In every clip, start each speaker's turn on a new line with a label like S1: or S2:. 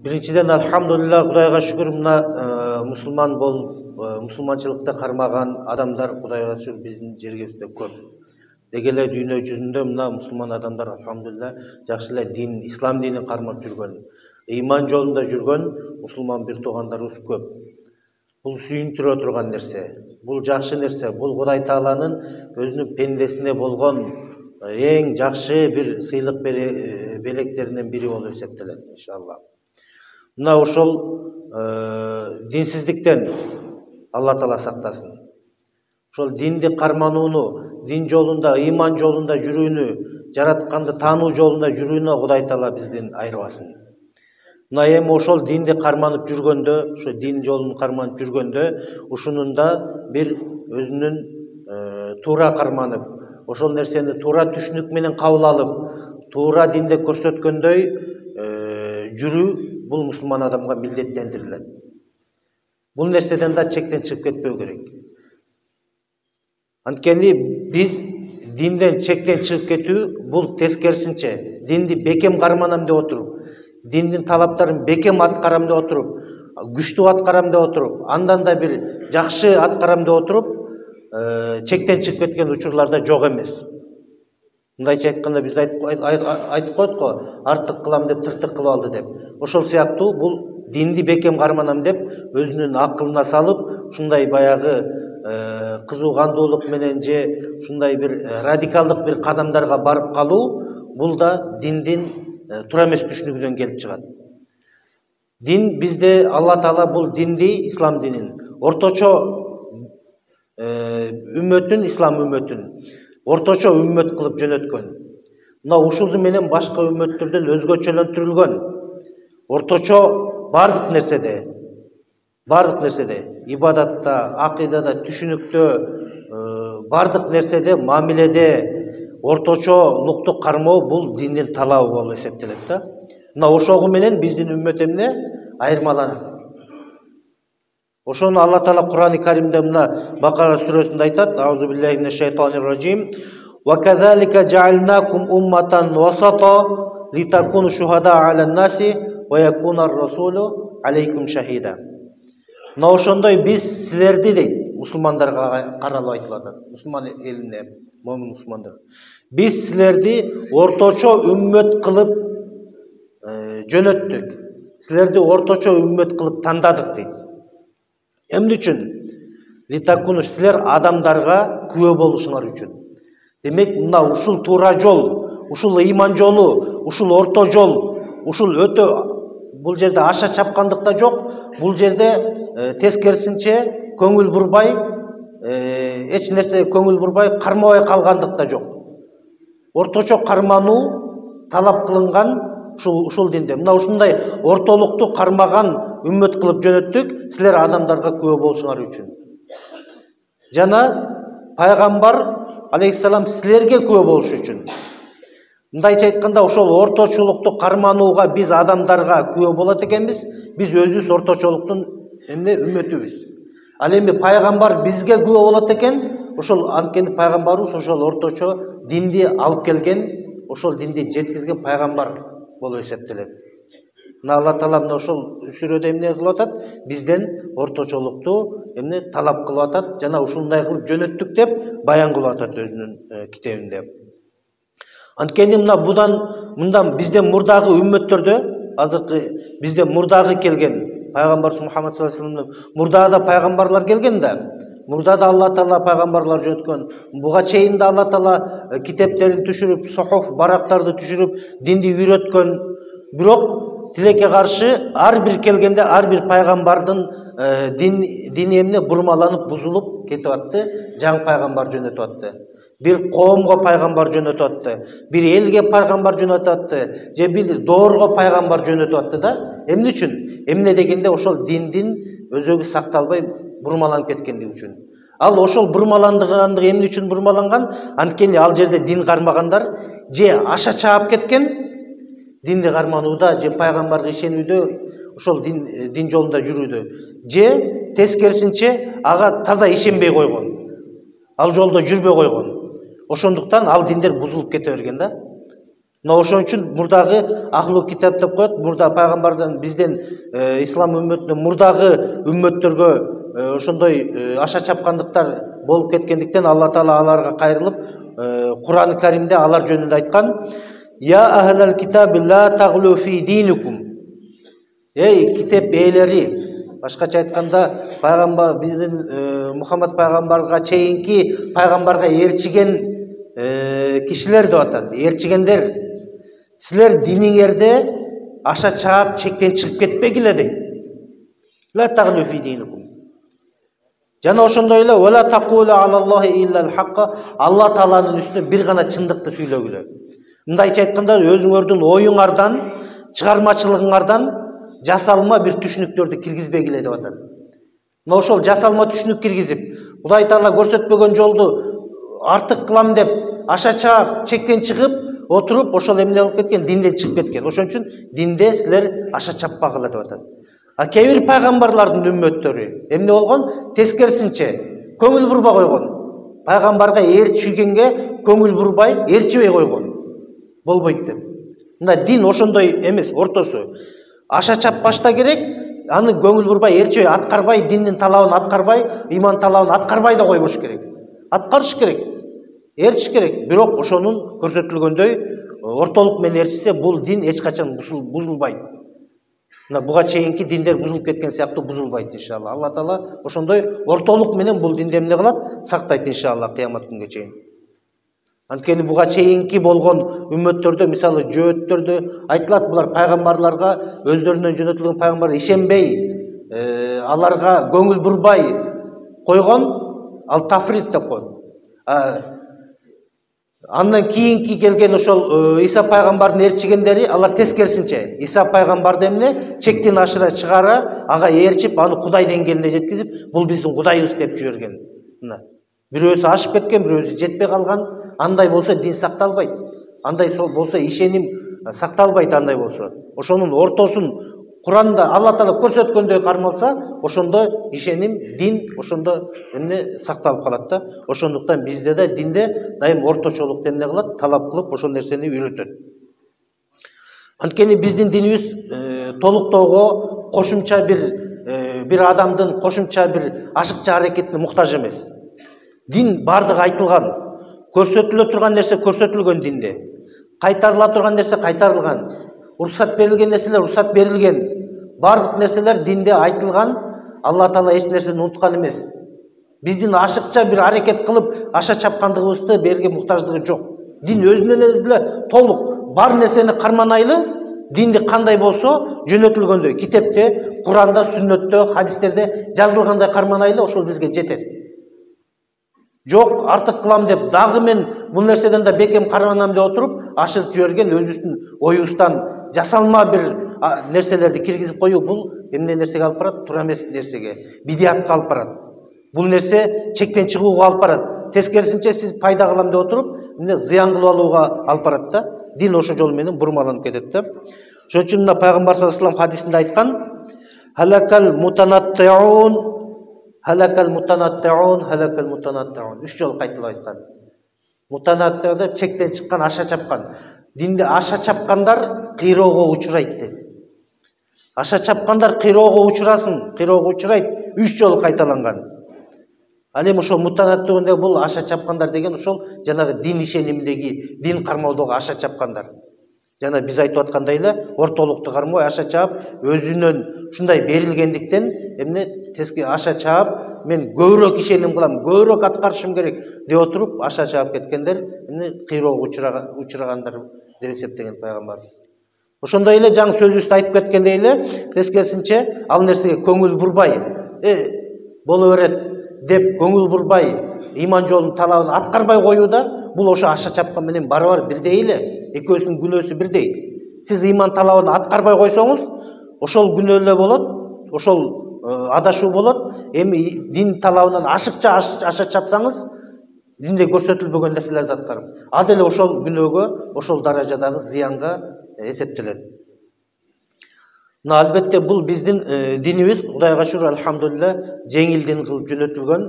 S1: Биринчиден алхамдулилlah, Кудайга шүгүр, мына мусулман мусулманчылыкты кармаган адамдар Кудайга шүгүр биздин жергибизде көп. Деги эле дүйнө жүзүндө мына мусулман адамдар алхамдулилlah жакшы эле дин, ислам динин кармап жүргөн, ыйман жолунда жүргөн мусулман бир туугандарыбыз көп. Бул сүйүндүрө турган нерсе, бул жакшы нерсе, бул Кудай Тааланын өзүнүн пендесине болгон эң жакшы бир сыйлык белектеринен бири болуп эсептелет, иншалла. Мына ошол динсиздиктен Алла Таала сактасын. Ошол динди карманууну, дин жолунда, ыйман жолунда жүрүүнү, жаратканды таануу жолунда жүрүүнү Кудай Таала бизден айырбасын. Мына эми ошол динди карманып жүргөндө, ошо дин жолун карманып жүргөндө, ушунун да бир өзүнүн туура карманып, ошол нерсени туура түшүнүк менен кабыл алып, туура динде көрсөткөндөй жүрүү бул мусулман адамга милдеттендирилет. Бул нерседен да чектен чыгып кетпөө керек. Анткени биз динден чектен чыгып кетүү бул тескерисинче динди бекем карманам деп отуруп, диндин талаптарын бекем аткарам деп отуруп, күчтүү аткарам деп отуруп, андан да бир жакшы аткарам деп отуруп, чектен чыгып кеткен учурларда жок эмес. Мындайча айтканда биз айтып койдук го, артык кылам деп тыртык кылып алды деп. Ошол сыяктуу бул динди бекем карманам деп өзүнүн акылына салып, ушундай баягы кызуугандуулук менен же ушундай бир радикалдык бир кадамдарга барып калуу, бул да диндин туура эмес түшүнүгүнөн келип чыгат. Дин бизде Алла Таала бул динди, ислам динин орточо үммөтүн, ислам үммөтүн орточо үммөт кылып жөнөткөн. Мына ушузу менен башка үммөттөрдөн өзгөчөлөнтүрүлгөн. Орточо бардык нерседе, ибадатта, акыйдада, түшүнүктө, бардык нерседе, мамиледе орточолукту кармоо бул диндин талабы болуп эсептелет да. Мына ошого менен биздин үммөт эмне айырмаланат. Ошону Алла Таала Кур'ан-ы Каримде мына Бакара сүрөсүндө айтат: Аузу биллахи минеш шайтанир ражим. Ва казалика жаалнакум умматан васата литакуну шухада алан наси ва якунар расулу алейкум шахида. Мына ошондой биз силерди дейт, мусулмандарга каралып айтып атат. Мусулман элине, момун мусулмандар. Биз силерди орточо үммөт кылып жөнөттүк. Силерди орточо үммөт кылып тандадык дейт. Эмне үчүн? Литакуну, силер адамдарга күбө болушуңар үчүн. Демек, мына ушул туура жол, ушул ыйман жолу, ушул орто жол, ушул өтө бул жерде аша чапкандык да жок, бул жерде тескерисинче көңүл бурбай, эч нерсе көңүл бурбай, кармабай калгандык да жок. Орточо кармануу талап кылынган ушул динде. Мына ушундай ортолукту кармаган үммөт кылып жөнөттүк, силер адамдарга күбө болушуңар үчүн. Жана пайгамбар алейхиссалам силерге күбө болуш үчүн. Мындайча айтканда, ошол орточолукту карманууга биз адамдарга күбө болот экенбиз, биз өзүбүз орточолуктун үммөтүбүз. Ал эми пайгамбар бизге күбө болот экен, ошол анткени пайгамбарыбыз ошол орточо динди алып келген, ошол динди жеткизген пайгамбар болуп эсептелет. Мына Алла Таала мына ошол сүрөдө эмне кылып атат? Бизден орточолукту талап кылып атат, жана ушундай кылып жөнөттүк деп баян кылып атат өзүнүн китебинде. Анткени мындан бизден мурдагы үммөттөрдө, азыркы бизден мурдагы келген пайгамбар Мухаммад саллаллаху алейхи вассалам, мурда да пайгамбарлар келген да, мурда да Алла Таала пайгамбарлар жөнөткөн. Буга чейин да Алла Таала китептерин түшүрүп, сохоф, барактарды түшүрүп, динди үйрөткөн. Бирок тилекке каршы ар бир келгенде ар бир пайгамбардын дини эмне бурмаланып, бузулуп кетип атты, жаңы пайгамбар жөнөтүп атты. Бир коомго пайгамбар жөнөтүп атты, бир элге пайгамбар жөнөтүп атты, же бир доорго пайгамбар жөнөтүп атты да. Эмне үчүн? Эмне дегенде ошол диндин өзөгү сакталбай бурмаланып кеткендиги үчүн. Ал ошол бурмаландыгы эмне үчүн бурмаланган? Анткени ал жерде дин кармагандар же аша чаап кеткен, динди карманууда же пайгамбарга ишенүүдө, ошол дин жолунда жүрүүдө, же тескерисинче ага таза ишенбей койгон, ал жолдо жүрбөй койгон. Ошондуктан ал диндер бузулуп кете берген да. Мына ошон үчүн мурдагы ахлу китап деп коет. Мурда пайгамбардан бизден ислам үммөтүнөн мурдагы үммөттөргө ошондой аша чапкандыктар болуп кеткендиктен Алла Таала аларга кайрылып Кур'ан-ы Каримде алар жөнүндө айткан: «Я ахлал китаби ла таглу фи динукум». Эй китеп ээлери, башкача айтканда пайгамбар биздин Мухаммад пайгамбарга чейинки пайгамбарга ээрчиген кишилер деп атат. Ээрчигендер, силер диниңерде аша чаап чектен чыгып кетпегиле дейт. Ла таглу фи динукум. Жана ошондой эле вала тaqulu алаллахи иллал хаққа, Алла Тааланын үстүнө бир гана чындыкты сүйлөгүлө. Мындайча айтканда өзүңөрдүн оюңардан, чыгармачылыгыңардан жасалма бир түшүнүктөрдү киргизбегиле деп атат. Мына ошол жасалма түшүнүк киргизип, Кудай Таала көрсөтпөгөн жолду артык кылам деп аша чаап чектен чыгып отуруп, ошол эмне болуп кеткен, динден чыгып кеткен. Ошон үчүн динде силер аша чаппагыла деп атат. А кээ бир пайгамбарлардын үммөттөрү эмне болгон? Тескерисинче көңүл бурбай койгон. Пайгамбарга ээрчигенге көңүл бурбай, ээрчибей койгон. Болбойт деп. Мына дин ошондой эмес, ортосу. Аша чаппашта керек, аны көңүл бурбай, ээрчибей аткарбай, диндин талабын аткарбай, иман талабын аткарбай да койбош керек. Аткарыш керек, ээрчиш керек. Бирок ошонун көрсөтүлгөндөй ортолук менен ээрчисе, бул дин эч качан бузулбайт. Мына буга чейинки диндер бузулуп кеткен сыяктуу бузулбайт иншалла. Алла Таала ошондой ортолук менен бул динди эмне кылат? Сактайт иншалла кыямат күнгө чейин. Анткени буга чейинки болгон үммөттөрдө, мисалы жөөттөрдө айтылат, булар пайгамбарларга, өздөрүнөн жөнөтүлгөн пайгамбарга ишенбей, аларга көңүл бурбай койгон, ал тафрит деп коет. Андан кийинки келген ошол Иса пайгамбардын ээрчигендери, алар тескерисинче. Иса пайгамбарды эмне? Чектен ашыра чыгара, ага ээрчип, аны Кудай деңгээлине жеткизип, бул биздин Кудайыбыз деп жиберген. Мына. Бирөөсү ашып кеткен, бирөөсү жетпей калган. Андай болсо дин сакталбайт. Андай болсо ишеним сакталбайт, андай болсо. Ошонун ортосун Куранда Алла Таала көрсөткөндөй кармалса, ошондо ишеним, дин ошондо эмне сакталып калат да. Ошондуктан бизде да динде дайым орточолукту эмне кылат, талап кылып ошол нерсени үйрөтөт. Анткени биздин динибиз толуктоого кошумча бир адамдын кошумча бир ашыкча аракетине муктаж эмес. Дин бардыгы айтылган, көрсөтүлө турган нерсе көрсөтүлгөн динде. Кайтарыла турган нерсе кайтарылган. Уруксат берилген нерселер уруксат берилген. Бардык нерселер динде айтылган. Алла Таала эч нерсени унуткан эмес. Биздин ашыкча бир аракет кылып аша чапкандыгыбызды берге муктаждыгы жок. Дин өзүнөн эле толук бар нерсени карманайлы. Динди кандай болсо жөнөтүлгөндөй, китепте, Куранда, сүннөттө, хадистерде жазылгандай карманайлы, ошол бизге жетет. Жок, артык кылам деп, дагы мен бул нерседен да бекем карманам деп отуруп, ашырып жиберген өзүбүздүн оюбуздан жасалма бир нерселерди киргизип коюу, бул эмне нерсеге алып барат? Туура эмес нерсеге, бидиятка алып барат. Бул нерсе чектен чыгууга алып барат. Тескерисинче сиз пайда кылам деп отуруп, эмне зыян кылып алууга алып барат да. Дин ошол жол менен бурмаланып кетет да. Ошон үчүн мына пайгамбар саллаллаху алейхи вассалам хадисинде айткан: "Халакал мутанаттиун, халакал мутанаттиун, халакал мутанаттиун." 3 жолу кайталап айткан. Мутанатти деп чектен чыккан, аша чапкан. Динде аша чапкандар кыйроого учурайт дейт. Аша чапкандар кыйроого учурасын, кыйроого учурайт. 3 жолу кайталанган. Ал эми ошол мутанаттиунде бул аша чапкандар деген ошол жанагы дин ишенимдеги, дин кармоодогу аша чапкандар. Жана биз айтып аткандай эле ортолукту кармой аша чаап, өзүнөн ушундай берилгендиктен эмне теске аша чаап, мен көбүрөөк ишеним кылам, көбүрөөк аткарышым керек деп отуруп аша чаап кеткендер эмне кыйроого учурагандар деп эсептеген пайгамбар. Ошондой эле жаңы сөзүбүздө айтып кеткендей эле, тескерисинче ал нерсеге көңүл бурбай, боло берет деп көңүл бурбай, иман жолунун талабын аткарбай коюуда, бул ошо аша чапкан менен барабар бирдей эле. Экөөсүнүн күнөөсү бирдей. Сиз иман талабын аткарбай койсоңуз, ошол күнөө эле болот, ошол адашуу болот. Эми дин талабынан ашыкча аша чапсаңыз, динде көрсөтүлбөгөн нерселерди аткарып, ал деле ошол күнөөгө, ошол даражадагы зыянга эсептелет. Мына албетте бул биздин динибиз, Кудайга шүкүр, алхамдулилла, жеңил дин кылып жөнөтүлгөн.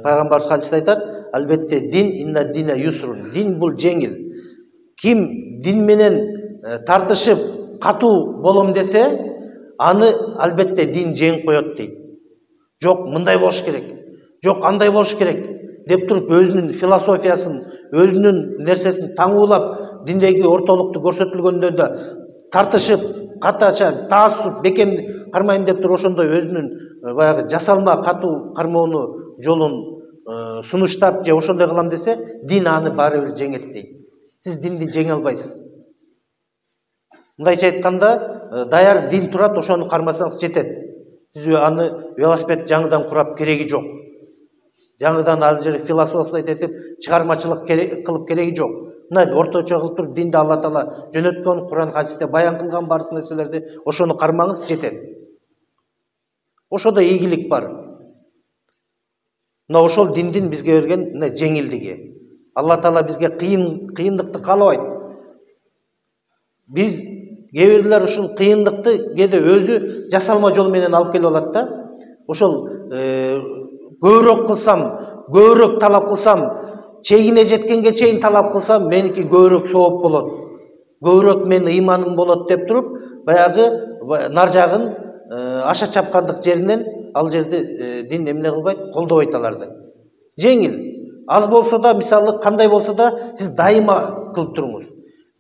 S1: Пайгамбарыбыз хадисте айтат, албетте дин инна дина юсрун. Дин бул жеңил. Ким дин менен тартышып катуу болом десе, аны албетте дин жеңип коет дейт. Жок, мындай болуш керек, жок, андай болуш керек деп туруп өзүнүн философиясын, өзүнүн нерсесин таңуулап, диндеги ортолукту көрсөтүлгөндө да тартышып, катача, таассуп, бекем кармайм деп туруп ошондой өзүнүн баягы жасалма катуу кармоону жолун сунуштап же ошондой кылам десе, дин аны баары бир жеңет дейт. Сиз динди жеңе албайсыз. Мындайча айтканда, даяр дин турат, ошону кармасаңыз жетет. Сиз аны велосипед жаңыдан курап кереги жок. Жаңыдан ал жер философия этип чыгармачылык кылып кереги жок. Мына орточо кылып туруп динди Алла Таала жөнөткөн, Куран хадисте баян кылган бардык нерселерди ошону кармаңыз жетет. Ошодо ийгилик бар. Мына ошол диндин бизге берген мына жеңилдиги. Алла Таала бизге кыйындыкты каалабайт. Биз кээ бирлер ушул кыйындыкты кээде өзү жасалма жол менен алып келип алат да. Ошол көбүрөөк кылсам, көбүрөөк талап кылсам, чегине жеткенге чейин талап кылсам, меники көбүрөөк сооп болот. Көбүрөөк менин ыйманым болот деп туруп, баягы нар жагын аша чапкандык жеринен ал жерде дин эмне кылбайт, колдобойт аларды. Жеңил. Аз болсо да, мисалы кандай болсо да, сиз дайыма кылып туруңуз.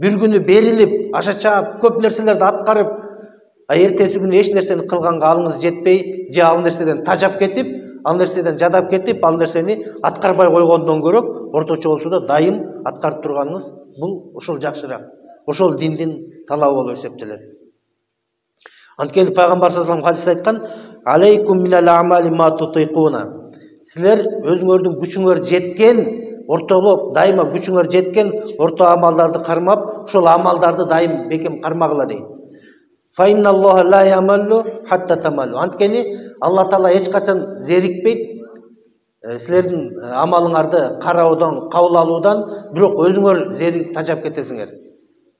S1: Бир күнү берилип, аша чаап, көп нерселерди аткарып, эртеси күнү эч нерсени кылганга алыңыз жетпей, же ал нерседен тажап кетип, ал нерседен жадап кетип, ал нерсени аткарбай койгондон көрөк, орточо болсо да дайым аткарып турганыңыз бул ошол жакшыраак. Ошол диндин талабы болуп эсептелет. Анткени пайгамбар саллаллаху алейхи ва саллям хадисте айткан: "Алейкум минал амали ма тутикуна." Силер өзүңөрдүн күчүңөр жеткен, ортолук дайыма күчүңөр жеткен орто амалдарды кармап, ошол амалдарды дайым бекем кармагыла дейт. Фа инналлаха ла ямаллу хатта тамаллу. Анткени Алла Таала эч качан зерикпейт силердин амалыңарды кароодон, кабыл алуудан, бирок өзүңөр зерик тажап кетесиңер.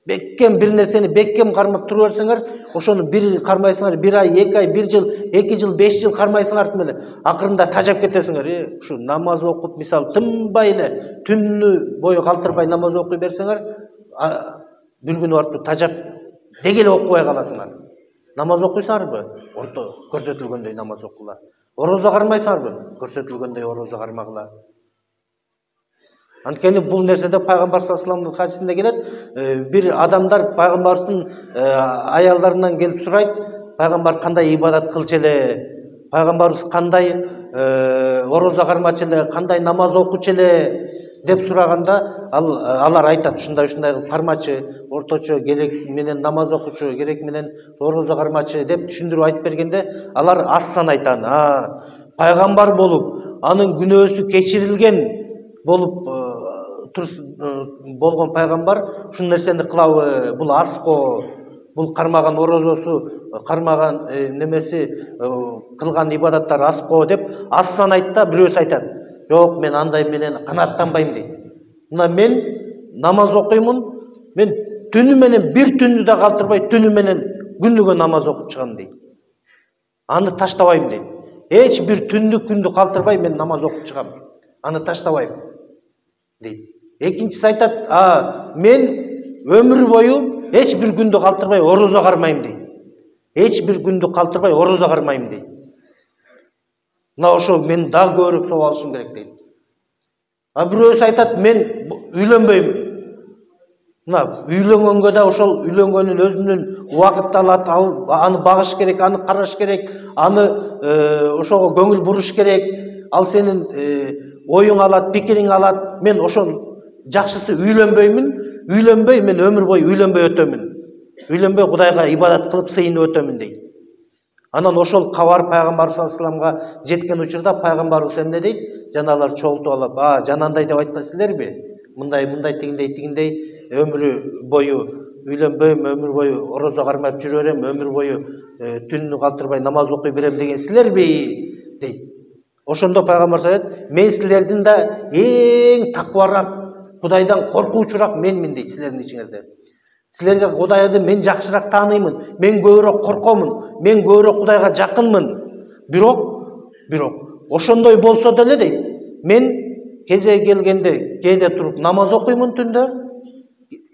S1: Бекем бир нерсени бекем кармап тура берсеңер, ошону бир кармайсыңар, бир ай, 2 ай, 1 жыл, 2 жыл, 5 жыл кармайсыңар менен акырында тажап кетесиңер. Ушу намаз окуп, мисалы тынбай эле түнү бою калтырбай намаз окуй берсеңер, бир күнү барып тажап деги эле окубай каласыңар. Намаз окуйсыңарбы? Орто көрсөтүлгөндөй намаз окула. Орозо кармайсыңарбы? Көрсөтүлгөндөй орозо кармагыла. Анткени бул нерседе пайгамбар саллаллаху алейхи ва салламдын хадисинде келет, бир адамдар пайгамбардын аялдарынан келип сурайт, пайгамбар кандай ибадат кылчу эле, пайгамбарыбыз кандай орозо кармачу эле, кандай намаз окучу эле деп сураганда, алар айтат, ушундай кылып кармачу, орточо керек менен намаз окучу, керек менен орозо кармачу деп түшүндүрүп айтып бергенде, алар аз сан айтан. Пайгамбар болуп, анын күнөөсү кечирилген болуп болгон пайгамбар ушул нерсени кылабы, бул азго, бул кармаган орозосу, кармаган немеси, кылган ибадаттар азго деп аз сан айтта, бирөөсү айтат: "Жок, мен андай менен канааттанбайм" дейт. Мына мен намаз окуймун, мен түнү менен бир түнү да калтырбай, түнү менен күнүгө намаз окуп чыгам дейт. Аны таштабайм дейт. Эч бир күндү калтырбай мен намаз окуп чыгам. Аны таштабайм дейт. Экинчиси айтат: "Мен өмүр бою эч бир күндү калтырбай орозо кармайм" дейт. Эч бир күндү калтырбай орозо кармайм дейт. Мына ошол мен дагы көбүрөөк сооп алышым керек дейт. Бирөөсү айтат: "Мен үйлөнбөйм." Мына үйлөнгөнгө да ошол үйлөнгөнүн өзүнүн убакыты алат, аны багыш керек, аны караш керек, аны ошого көңүл буруш керек. Ал сенин оюң алат, пикириң алат. Мен ошол жакшысы үйлөнбөй, мен өмүр бою үйлөнбөй өтөмүн. Үйлөнбөй Кудайга ибадат кылып сыйынып өтөмүн дейт. Анан ошол кабар пайгамбар саллаллаху алейхи ва салламга жеткен учурда пайгамбарыбыз эмне дейт? Жаналар чогултуп алып: "Жанандай деп айтасыздарбы? Мындай тигиндей өмүрү бою үйлөнбөйм, өмүр бою орозо кармап жүрө берем, өмүр бою түнү калтырбай намаз окуй берем деген силерби?" дейт. Ошондо пайгамбар айтат: "Мен силердин да эң таквараак, Кудайдан коркуучураак менмин" дейт силердин ичиңерде. Силерге Кудайды мен жакшыраак тааныймын, мен көбүрөөк коркомун, мен көбүрөөк Кудайга жакынмын. Бирок ошондой болсо деле дейт, мен кезеги келгенде кээде туруп намаз окуймун түндө,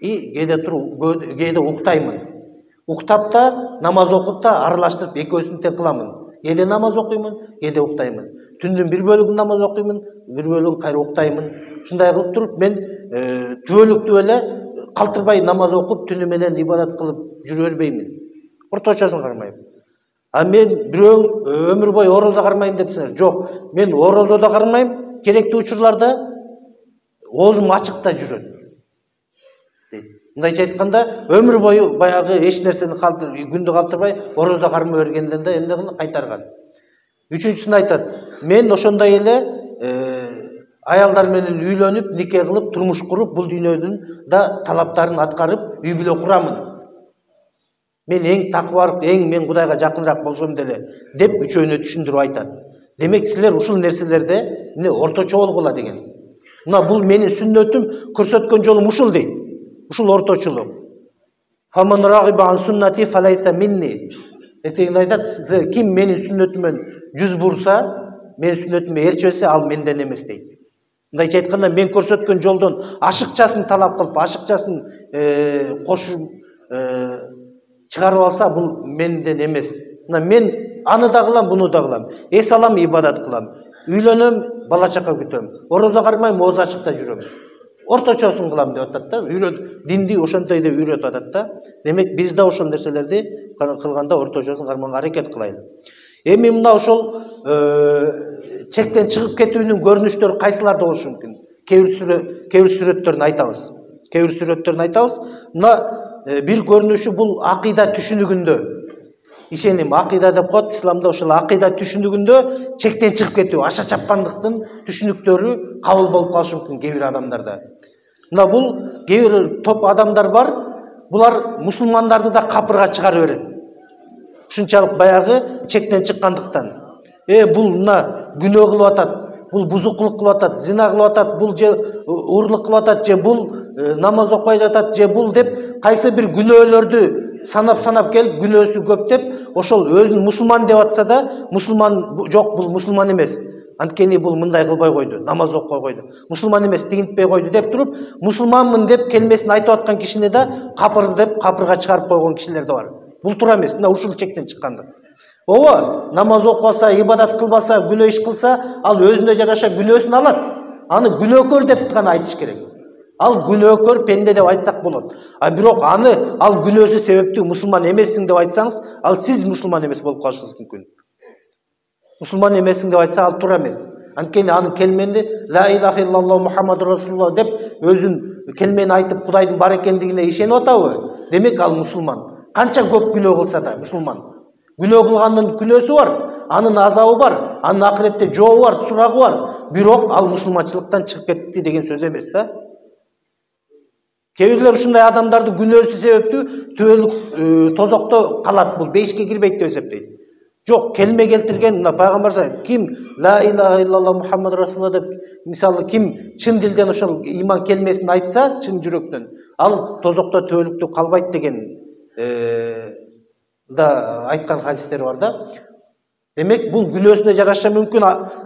S1: и кээде уктаймын. Уктап да намаз окуп да аралаштырып экөөсүн тең кыламын. Кээде намаз окуймун, кээде уктаймын. Түндүн бир бөлүгүн намаз окуймун, бир бөлүгүн кайра уктаймын. Ушундай кылып туруп мен түбөлүктүү эле калтырбай намаз окуп түнү менен ибадат кылып жүрө бербеймин. Орточосун кармайм. А мен бирөө өмүр бою орозо кармайм депсиңер. Жок, мен орозо да кармайм, керектүү учурларда оозум ачык да жүрөт. Мындайча айтканда, өмүр бою баягы эч нерсени күндү калтырбай орозо кармай бергенден да эмне кылып кайтарган. Үчүнчүсүн айтат, мен ошондой эле аялдар менен үйлөнүп, нике кылып, турмуш куруп, бул дүйнөдүн да талаптарын аткарып, үй бүлө курамын. Мен эң такыбар, мен Кудайга жакыныраак болсом деле деп үчөөнө түшүндүрүп айтат. Демек силер ушул нерселерде эмне орточо болгула деген. Мына бул менин сүннөтүм, көрсөткөн жолум ушул дейт. Ушул орточулук. Фаман рагиба ан суннати фалайса минни. Этегин айтат, ким менин сүннөтүмөн жүз бурса, менин сүннөтүмө ээрчебесе, ал менден эмес дейт. Мындайча айтканда, мен көрсөткөн жолдон ашыкчасын талап кылып, ашыкчасын кошуп чыгарып алса, бул менден эмес. Мына мен аны да кылам, буну да кылам. Эс алам, ибадат кылам. Үйлөнөм, бала чака күтөм. Орозо кармайм, ооз ачыкта жүрөм. Орточосун кылам деп атат да. Динди ошонтой деп үйрөтүп атат да. Демек биз да ошол нерселерди кылганда орточосун кармаганга аракет кылайлы. Эми мына ошол чектен чыгып кетүүнүн көрүнүштөрү кайсыларда болушу мүмкүн? Кээ бир сүрөттөрүн айтабыз. Мына бир көрүнүшү бул акыйда түшүнүгүндө. Ишеним, акыйда деп коет исламда, ошол акыйда түшүнүгүндө чектен чыгып кетүү, аша чапкандыктын түшүнүктөрү кабыл болуп калышы мүмкүн кээ бир адамдарда. Мына бул кээ бир топ адамдар бар, булар мусулмандарды да капырга чыгара берет. Ушунчалык баягы чектен чыккандыктан. Бул мына күнөө кылып атат, бул бузукулук кылып атат, зина кылып атат, бул же урлук кылып атат, же бул намаз окубай жатат, же бул деп кайсы бир күнөөлөрдү санап келип, күнөөсү көп деп, ошол өзүн мусулман деп атса да, мусулман жок, бул мусулман эмес. Анткени бул мындай кылбай койду, намаз окубай койду. Мусулман эмес, тигинтпей койду деп туруп, мусулманмын деп келмесин айтып аткан кишини да капыр деп капырга чыгарып койгон кишилер да бар. Бул туура эмес. Мына ушул чектен чыккандык. Намаз окубаса, ибадат кылбаса, күнөө иш кылса, ал өзүнө жараша күнөөсүн алат. Аны күнөөкөр деп гана айтыш керек. Ал күнөөкөр пенде деп айтсак болот. А бирок ал күнөөсү себептүү мусулман эмессиң деп айтсаңыз, ал сиз мусулман эмес болуп калышыңыз мүмкүн. Мусулман эмессиң деп айтса, ал туура эмес. Анткени анын келмени ла илаха иллаллаху Мухаммаду расулуллах деп өзүн келмени айтып Кудайдын бар экендигине ишенип атабы? Демек ал мусулман. Канча көп күнөө кылса да мусулман. Күнөө кылгандын күнөөсү бар, анын азабы бар, анын акыретте жообу бар, сурагы бар. Бирок ал мусулманчылыктан чыгып кетти деген сөз эмес да. Кээ бирлер ушундай адамдарды күнөөсү себептүү түбөлүк тозокто калат, бул бейишке кирбейт деп эсептейт. Жок, келме келтирген мына пайгамбар ким ла илаха иллаллаху Мухаммаду расулуллах деп, мисалы ким чын дилден ошол иман келмесин айтса, чын жүрөктөн, ал тозокто түбөлүктө калбайт деген да айткан хадистер бар да. Демек бул күнөөсүнө жараша мүмкүн,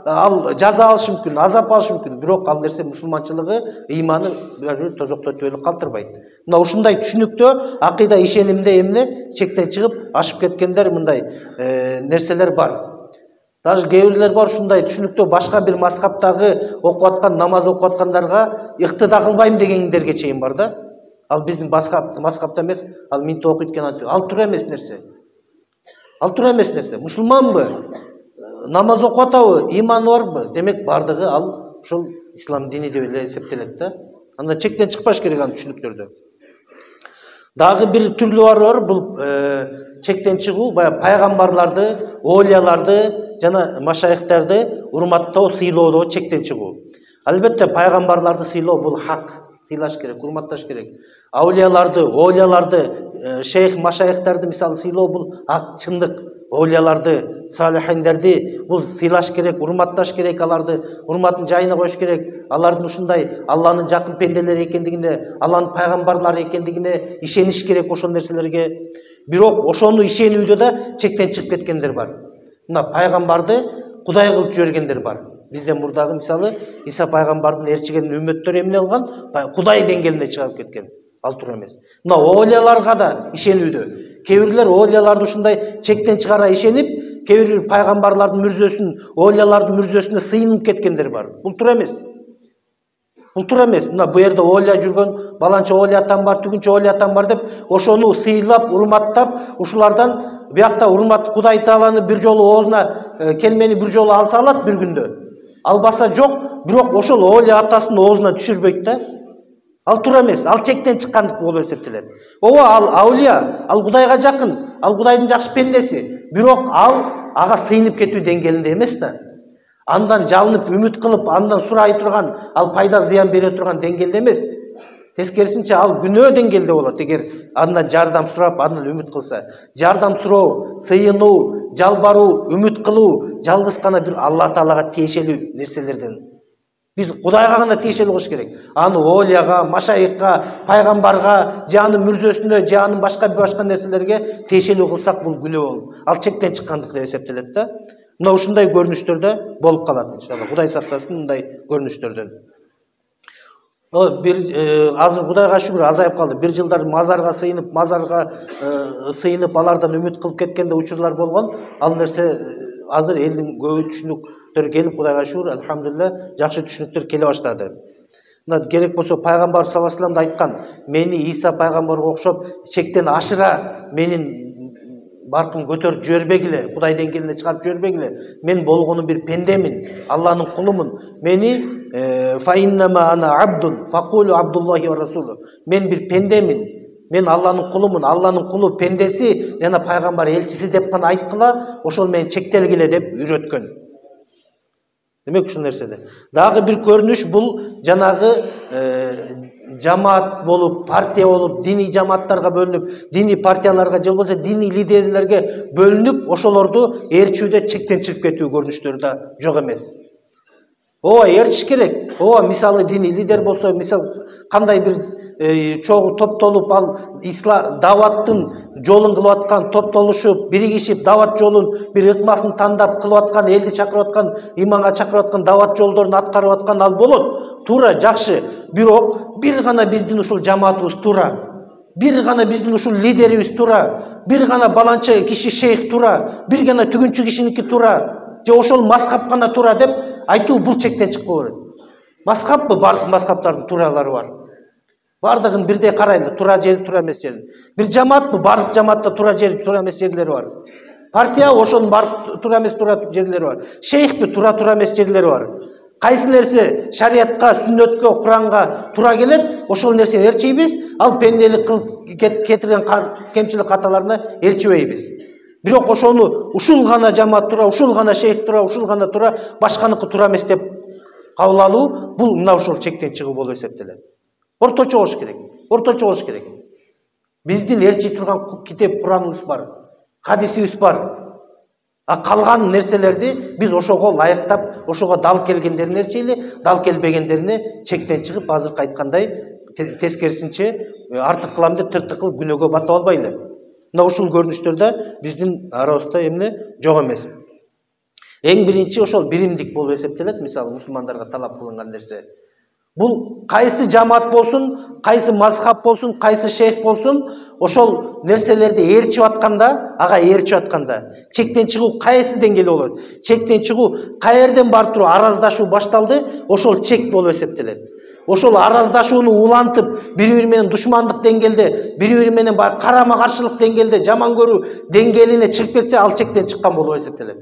S1: ал жаза алышы мүмкүн, азап алышы мүмкүн, бирок ал нерсе мусулманчылыгы, иманы бир тозокто түбөлүк калтырбайт. Мына ушундай түшүнүктө акыйда ишенимде эмне чектен чыгып ашып кеткендер мындай нерселер бар. Даже кээ бирлер бар ушундай түшүнүктө башка бир мазхабтагы окуп аткан, намаз окуп аткандарга ыктыда кылбайм дегендерге чейин бар да. Ал биздин мазхабта эмес, ал минте окуйт экен, ал туура эмес нерсе. Ал туура эмес нерсе. Мусулманбы? Намаз окуп атабы? Иманы барбы? Демек бардыгы ал ушул ислам дини деп эле эсептелет да. Анда чектен чыкпаш керек анын түшүнүктөрдө. Дагы бир түрлү бар, бул чектен чыгуу баягы пайгамбарларды, олияларды жана машайыхтарды урматтоо, сыйлоодо чектен чыгуу. Албетте пайгамбарларды сыйлоо бул хак. Сыйлаш керек, урматташ керек. Аулияларды, олияларды, шейх машайыхтарды мисалы сыйлоо бул ак чындык. Олияларды, салихиндерди бул сыйлаш керек, урматташ керек, аларды урматын жайына коюш керек. Алардын ушундай Алланын жакын пенделери экендигине, Алланын пайгамбарлары экендигине ишениш керек ошол нерселерге. Бирок ошону ишенүүдө да чектен чыгып кеткендер бар. Мына пайгамбарды Кудай кылып жибергендер бар. Бизден мурдагы мисалы Иса пайгамбардын ээрчиген үммөттөрү эмне кылган? Кудай деңгээлине чыгарып кеткен. ал туура эмес. Мына олияларга да ишенүүдө. Кээ бирлер олияларды ушундай чектен чыгара ишенип, кээ бир пайгамбарлардын мүрзөсүн, олиялардын мүрзөсүнө сыйынып кеткендер бар. Бул туура эмес. Бул туура эмес. Мына бу жерде олия жүргөн, баланча олиятан бар, түгүнчө олиятан бар деп, ошону сыйлап, урматтап, ушулардан биякта урмат Кудай Тааланы бир жолу оозуна келмени бир жолу алса алат бир күндө. Албаса жок, бирок ошол олия атасын оозуна түшүрбөйт да. Ал туура эмес, ал чектен чыккандык болуп эсептелет. Ооба, ал аулия, ал Кудайга жакын, ал Кудайдын жакшы пендеси, бирок ал ага сыйынып кетүү деңгээлинде эмес да. Андан жалынып, үмүт кылып, андан сурай турган, ал пайда зыян бере турган деңгээлде эмес. Тескерисинче ал күнөө деңгээлде болот, эгер андан жардам сурап, андан үмүт кылса. Жардам суроо, сыйынуу, жалбаруу, үмүт кылуу жалгыз гана бир Алла Таалага тиешелүү нерселерден. Биз Кудайга гана тиешелүү кылыш керек. Аны олияга, машайыкка, пайгамбарга, же анын мүрзөсүнө, же анын башка нерселерге тиешелүү кылсак бул күнөө болуп, ал чектен чыккандык деп эсептелет да. Мына ушундай көрүнүштөрдө болуп калат иншалла. Кудай сактасын мындай көрүнүштөрдөн. Азыр Кудайга шүгүр азайып калды. Бир жылдар мазарга сыйынып, алардан үмүт кылып кеткенде учурлар болгон. Ал нерсе азыр элдин көбү түшүнүктөр келип, Кудайга шүгүр, алхамдулилlah, жакшы түшүнүктөр келе баштады. Мына керек болсо пайгамбар саллаллаху алейхи вассалам да айткан, мени Иса пайгамбарга окшоп чектен ашыра менин баркын көтөрүп жибербегиле, Кудай деңгээлине чыгарып жибербегиле. Мен болгону бир пендемин, Алланын кулумун. Мени фаиннама ана абдун факулу абдуллахи ва расулу. Мен бир пендемин. Мен Алланын кулумун, Алланын кулу, пендеси жана пайгамбар элчиси деп гана айткыла, ошол менен чектелгиле деп үйрөткөн. Демек ушул нерседе. Дагы бир көрүнүш бул жанагы жамаат болуп, партия болуп, диний жамааттарга бөлүнүп, диний партияларга же болбосо диний лидерлерге бөлүнүп, ошолорду ээрчүүдө чектен чыгып кетүү көрүнүштөрү да жок эмес. Ооба, ээрчиш керек. Ооба, мисалы диний лидер болсо, мисал кандай бир чогуу топтолуп, ал даваттын жолун кылып аткан, топтолушуп, биригишип, дават жолун бир ыкмасын тандап кылып аткан, элди чакырып аткан, иманга чакырып аткан, дават жолдорун аткарып аткан ал болот. Туура, жакшы. Бирок бир гана биздин ушул жамаатыбыз туура. Бир гана биздин ушул лидерибиз туура. Бир гана баланча киши шейх туура. Бир гана түгүнчү кишиники туура. Же ошол мазхаб гана туура деп айтуу бул чектен чыккы болот. Мазхабпы? Бардык мазхабтардын тууралары бар. Бардыгын бирдей карайлы, туура жери, туура эмес жери. Бир жамаатпы? Бардык жамаатта туура жери, туура эмес жерлери бар. Партия ошонун бардык туура эмес, туура жерлери бар. Шейхпи? Туура эмес жерлери бар. Кайсы нерсе шариатка, сүннөткө, Куранга туура келет, ошол нерсени ээрчийбиз, ал пенделик кылып кетирген кемчилик каталарына ээрчибейбиз. Бирок ошону ушул гана жамаат туура, ушул гана шейх туура, ушул гана туура, башканыкы туура эмес деп кабыл алуу, бул мына ушул чектен чыгуу болуп эсептелет. Орточо болуш керек. Орточо болуш керек. Биздин ээрчий турган китеп Кураныбыз бар, хадисибиз бар. А калган нерселерди биз ошого лайыктап, ошого дал келгендерин ээрчейли, дал келбегендерине чектен чыгып, азыркы айткандай тескерисинче артык кылам деп тыртык кылып күнөөгө батып албайлы. Мына ушул көрүнүштөрдө биздин арабызда эмне жок эмес. Эң биринчи ошол биримдик болуп эсептелет, мисалы мусулмандарга талап кылынган нерсе. Бул кайсы жамаат болсун, кайсы мазхаб болсун, кайсы шейх болсун, ошол нерселерди ээрчип атканда, ага ээрчип атканда, чектен чыгуу кайсы деңгээлде болот? Чектен чыгуу каерден барып туруп араздашуу башталды, ошол чек болуп эсептелет. Ошол араздашууну улантып, бири-бири менен душмандык деңгээлде, бири-бири менен карама-каршылык деңгээлде, жаман көрүү деңгээлине чыгып кетсе, ал чектен чыккан болуп эсептелет.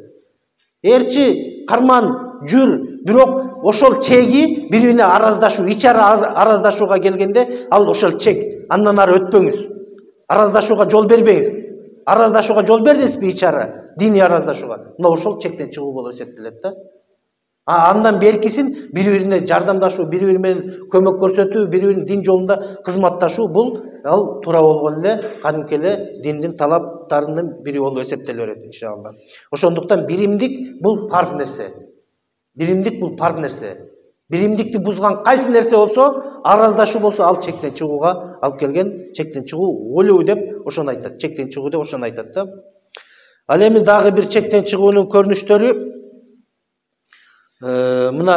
S1: Ээрчи, карман, жүр, бирок ошол чеги бири-бирине араздашуу, ичара араздашууга келгенде, ал ошол чек. Андан ары өтпөңүз. Араздашууга жол бербеңиз. Араздашууга жол бердиңизби ичара, диний араздашууга? Мына ошол чектен чыгуу болуп эсептелет да. Андан беркисин бири-бирине жардамдашуу, бири-бири менен көмөк көрсөтүү, бири-биринин дин жолунда кызматташуу, бул ал туура болгон эле кадимки эле диндин талаптарынын бири болуп эсептеле берет иншалла. Ошондуктан биримдик бул парз нерсе. Биримдик бул парз нерсе. Биримдикти бузган кайсы нерсе болсо, араздашуу болсо, ал чектен чыгууга алып келген, чектен чыгуу өлүү деп ошону айтат. Чектен чыгуу деп ошону айтат да. Ал эми дагы бир чектен чыгуунун көрүнүштөрү мына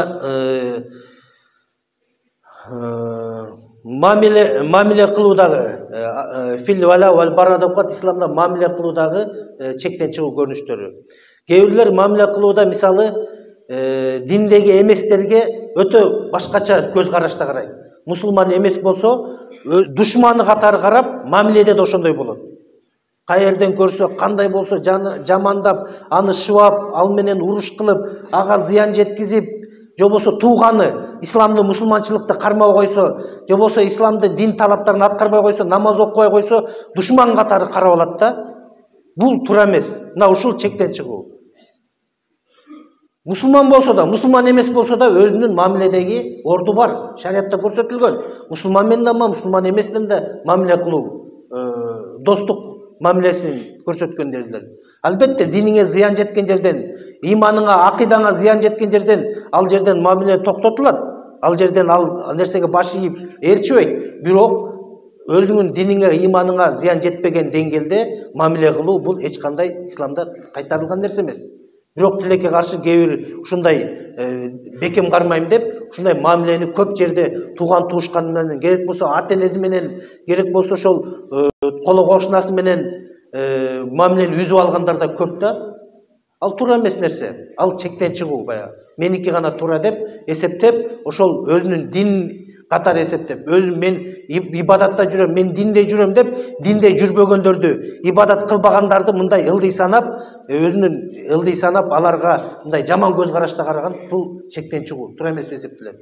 S1: мамиле кылуудагы фил вала вал бара деп коет исламда мамиле кылуудагы чектен чыгуу көрүнүштөрү. Кээ бирлер мамиле кылууда мисалы диндеги эместерге өтө башкача көз карашта карайт. Мусулман эмес болсо душманы катары карап, мамиледе да ошондой болот. Кай жерден көрсө, кандай болсо жамандап, аны шыбап, ал менен уруш кылып, ага зыян жеткизип, же болбосо тууганы исламды, мусулманчылыкты кармай койсо, же болбосо исламды дин талаптарын аткарбай койсо, намаз окубай койсо, душман катары карап алат да. Бул туура эмес. Мына ушул чектен чыгуу. Мусулман болсо да, мусулман эмес болсо да өзүнүн мамиледеги орду бар. Шариатта көрсөтүлгөн. Мусулман менен да, мусулман эмес менен да мамиле кылуу, достук мамилесин көрсөткөн дерлер. Албетте диниңе зыян жеткен жерден, иманыңа, акыйдаңа зыян жеткен жерден, ал жерден мамиле токтотулат. Ал жерден ал нерсеге баш ийип ээрчибейт. Бирок өзүңүн диниңе, иманыңа зыян жетпеген деңгээлде мамиле кылуу бул эч кандай исламда кайтарылган нерсе эмес. Бирок тилекке каршы кээ бир ушундай бекем кармайм деп, ушундай мамилени көп жерде тууган туушкан менен, керек болсо ата-энеси менен, керек болсо ошол коло кошунасы менен мамилени үзүп алгандар да көп да. Ал туура эмес нерсе. Ал чектен чыгуу баягы. Меники гана туура деп эсептеп, ошол өзүнүн дин катары эсептеп, өзүм мен ибадатта жүрөм, мен динде жүрөм деп, динде жүрбөгөндөрдү, ибадат кылбагандарды мындай ылдый санап, өзүнүн ылдый санап, аларга мындай жаман көз карашта караган бул чектен чыгуу, туура эмес эсептелет.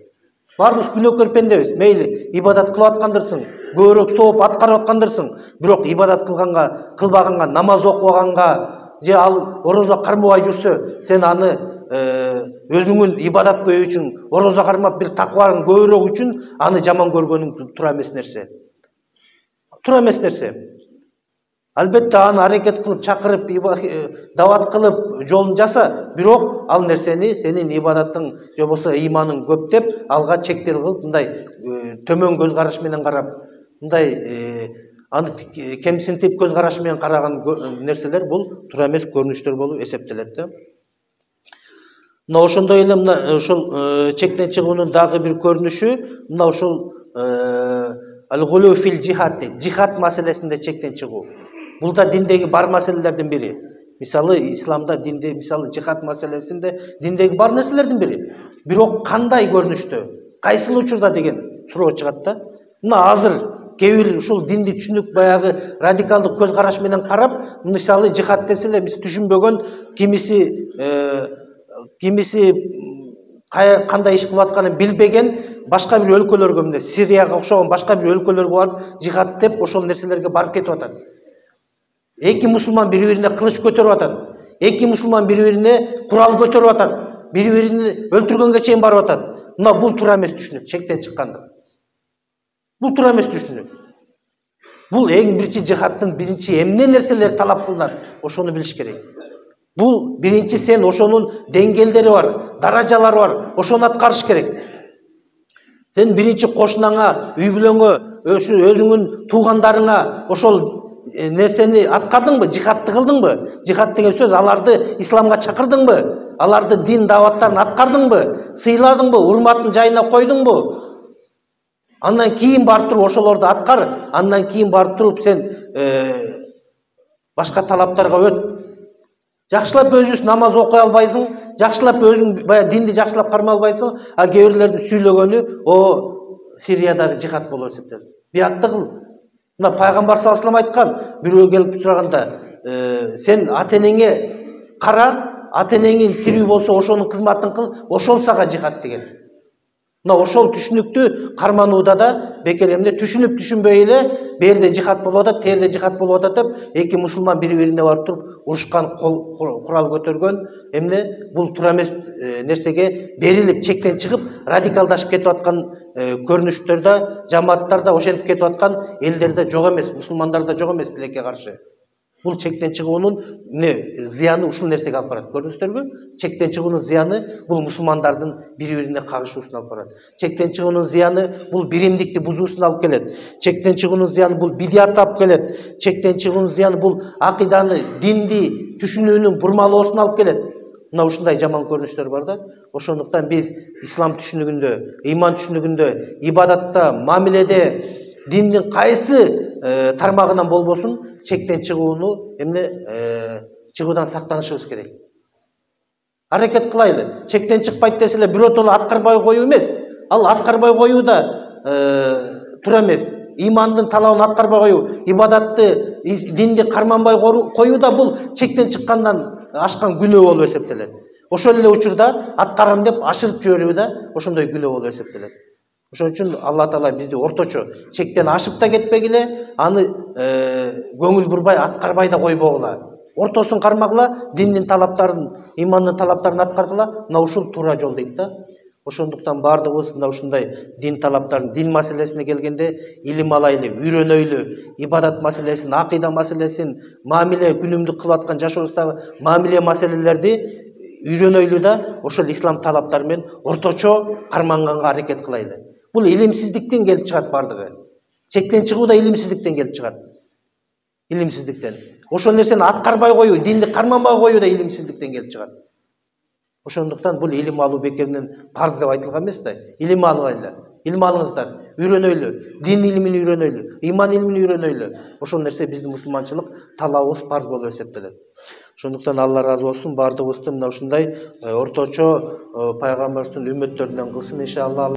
S1: Баарыбыз күнөөкөр пендебиз. Мейли ибадат кылып аткандырсың, көбүрөөк сооп аткарып аткандырсың, бирок ибадат кылбаганга, намаз окубаганга, же ал орозо кармабай жүрсө, сен аны өзүңүн ибадат көйүү үчүн, орозо кармап бир такваң көбүрөөк үчүн аны жаман көргөнүң туура эмес нерсе. Туура эмес нерсе. Албетте аны аракет кылып, чакырып, дават кылып, жолун жаса, бирок ал нерсени сенин ибадатың, же болбосо иманың көп деп, алга чектер кылып, мындай төмөн көз караш менен карап, мындай аны кемсинтип көз караш менен караган нерселер бул туура эмес көрүнүштөр болуп эсептелет да. Мына ошондой эле мына ушул чектен чыгуунун дагы бир көрүнүшү мына ушул ал-гулу фил жихад дейт. Жихад маселесинде чектен чыгуу. Бул да диндеги бар маселелердин бири. Мисалы исламда динде мисалы жихад маселесинде диндеги бар нерселердин бири. Бирок кандай көрүнүштө, кайсыл учурда деген суроо чыгат да. Мына азыр кээ бир ушул динди түшүнүк баягы радикалдык көз караш менен карап, мисалы жихад десе эле түшүнбөгөн кимиси кандай иш кылып атканын билбеген башка бир өлкөлөргө, мына Сирияга окшогон башка бир өлкөлөргө барып жихад деп ошол нерселерге барып кетип атат. Эки мусулман бири-бирине кылыч көтөрүп атат. Эки мусулман бири-бирине курал көтөрүп атат. Бири-бирин өлтүргөнгө чейин барып атат. Мына бул туура эмес түшүнүк, чектен чыккандык. Бул туура эмес түшүнүк. Бул эң биринчи жихадтын биринчи эмне нерселер талап кылынат, ошону билиш керек. Бул биринчи сен ошонун деңгээлдери бар, даражалары бар, ошону аткарыш керек. Сен биринчи кошунаңа, үй бүлөңө, өзүңүн туугандарыңа ошол нерсени аткардыңбы, жихадты кылдыңбы? Жихад деген сөз аларды исламга чакырдыңбы? Аларды дин даваттарын аткардыңбы? Сыйладыңбы? Урматын жайына койдуңбу? Андан кийин барып туруп ошолорду аткар, андан кийин барып туруп сен башка талаптарга өт. Жакшылап өзүң намаз окуй албайсың, жакшылап өзүң баягы динди жакшылап кармай албайсың, а кээ бирлердин сүйлөгөнү Сириядагы жихад болуп эсептелет. Биякты кыл. Мына пайгамбар саллаллаху алейхи айткан, бирөө келип сураганда, сен ата-энеңе кара, ата-энеңин тирүү болсо ошонун кызматын кыл, ошол сага жихад деген. Мына ошол түшүнүктү карманууда да бекер эмне түшүнүп түшүнбөй эле берде жихад болуп атат, терде жихад болуп атат деп эки мусулман бири-бирине барып туруп урушкан, курал көтөргөн эмне бул туура эмес нерсеге берилип чектен чыгып радикалдашып кетип аткан көрүнүштөрдө жамааттарда ошентип кетип аткан элдерде жок эмес, мусулмандарда жок эмес тилекке каршы. Бул чектен чыгуунун зыяны ушул нерсеге алып барат. Көрдүңүздөрбү? Чектен чыгуунун зыяны бул мусулмандардын бири-бирине кагышуусуна алып барат. Чектен чыгуунун зыяны бул биримдикти бузуусуна алып келет. Чектен чыгуунун зыяны бул бидиатты алып келет. Чектен чыгуунун зыяны бул акыйданы, динди түшүнүүнүн бурмалоосуна алып келет. мына ушундай жаман көрүнүштөр бар да. Ошондуктан биз ислам түшүнүгүндө, ыйман түшүнүгүндө, ибадатта, мамиледе диндин кайсы тармагынан болбосун чектен чыгууну чыгуудан сактанышыбыз керек. Аракет кылайлы. Чектен чыкпайт десе эле биротоло аткарбай коюу эмес. Ал аткарбай коюу да туура эмес. Имандын талабын аткарбай коюу, ибадатты, динди карманбай коюу да бул чектен чыккандан ашкан күнөө болуп эсептелет. Ошол эле учурда аткарам деп ашырып жиберүү да ошондой күнөө болуп эсептелет. Ошон үчүн Алла Таала бизди орточо чектен ашып да кетпегиле, аны көңүл бурбай аткарбай да койбогула. Ортосун кармагыла, диндин талаптарын, имандын талаптарын аткаргыла, мына ушул туура жол дейт да. Ошондуктан бардыгыбыз мына ушундай дин талаптарын, дин маселесине келгенде илим алайлы, үйрөнөйлү, ибадат маселесин, акыйда маселесин, мамиле күнүмдүк кылып аткан жашообуздагы мамиле маселелерди үйрөнөйлү да ошол ислам талаптары менен орточо карманганга аракет кылайлы. Бул илимсиздиктен келип чыгат бардыгы. Чектен чыгуу да илимсиздиктен келип чыгат. Илимсиздиктен. Ошол нерсени аткарбай коюу, динди карманбай коюу да илимсиздиктен келип чыгат. Ошондуктан бул илим алуу бекеринен парз деп айтылган эмес да. Илим алгайлы. Илим алыңыздар, үйрөнөйлү, дин илимин үйрөнөйлү, иман илимин үйрөнөйлү. Ошол нерсе биздин мусулманчылык талабыбыз, парз болуп эсептелет. Ошондуктан Алла разы болсун, бардыгыбызды мына ушундай орточо пайгамбарыбыздын үммөттөрүнөн кылсын иншалла.